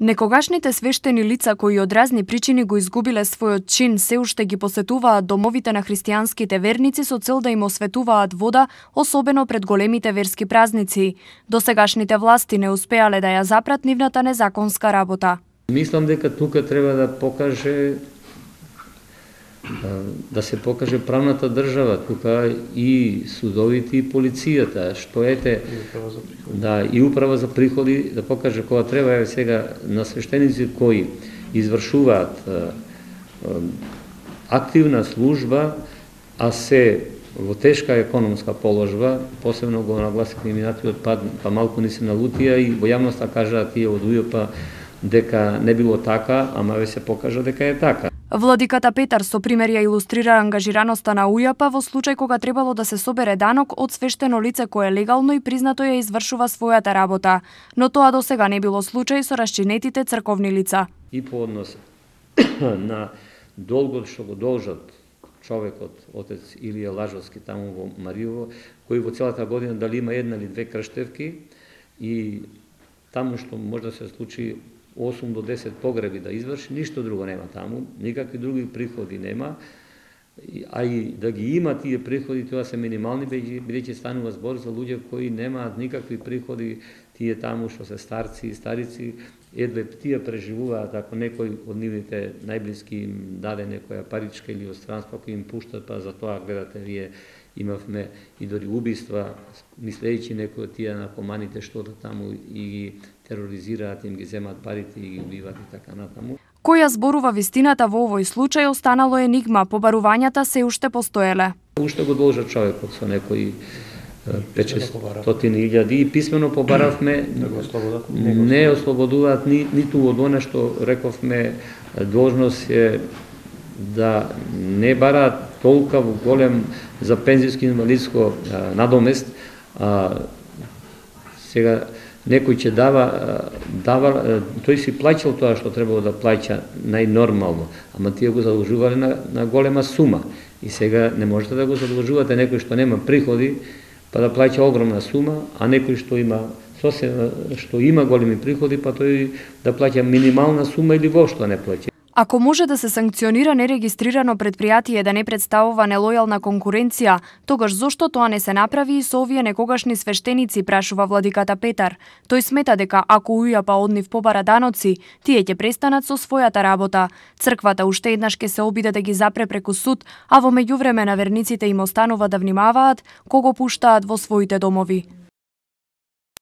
Некогашните свештени лица кои од разни причини го изгубиле својот чин се уште ги посетуваат домовите на христијанските верници со цел да им осветуваат вода, особено пред големите верски празници. Досегашните власти не успеале да ја запрат нивната незаконска работа. Мислам дека тука треба да се покаже правната држава, тука и судовите и полицијата, што ете и управа за приходи да покаже кога треба сега на свештеници кои извршуваат активна служба, а се во тешка економска положба, посебно го нагласивме минатиот пат, па малку ни се налутија и во јавноста кажаа тие од УЈП дека не било така, ама ве се покажа дека е така. Владиката Петар со пример ја илустрира ангажираноста на УЈП во случај кога требало да се собере данок од свештено лице кое легално и признато ја извршува својата работа, но тоа досега не било случај со расчинетите црковни лица. И по однос на долгот што го должат човекот, отец Илија Лажовски таму во Мариово, кој во целата година дали има една или две крштевки и таму што може да се случи 8 до 10 погреби да изврши, ништо друго нема таму, никакви други приходи нема, а и да ги има тие приходи, тоа се минимални, бидејќи станува збор за луѓе кои немаат никакви приходи, тие таму што се старци и старици, едве тие преживуваат, ако некој од нивните најблиски им даде некоја паричка или од странство кој им пуштат, па за тоа гледате вие имавме и дори убиства, мислејќи некои од тие наркоманите што да таму и ги тероризираат, им ги земат парите и ги убиваат и така натаму. Која зборува вистината во овој случај останало енигма, побарувањата се уште постоеле. Уште го должат човекот со некои 500.000 и писмено побаравме, не ослободуваат ниту од оно што рековме, должност е да не бараат толка голем за пензијско инвалидско надомест, сега некој ќе дава, тој си плаќал тоа што требало да плаќа најнормално, ама тие го задолжувале на голема сума. И сега не можете да го задолжувате некој што нема приходи, па да плаќа огромна сума, а некој што има големи приходи, па тој да плаќа минимална сума или воопшто не плаќа. Ако може да се санкционира нерегистрирано предпријатие да не представува нелојална конкуренција, тогаш зошто тоа не се направи и со овие некогашни свештеници, прашува владиката Петар. Тој смета дека ако УЈП од нив побара даноци, тие ќе престанат со својата работа. Црквата уште еднаш ќе се обиде да ги запре преку суд, а во меѓувреме на верниците им останува да внимаваат кого пуштаат во своите домови.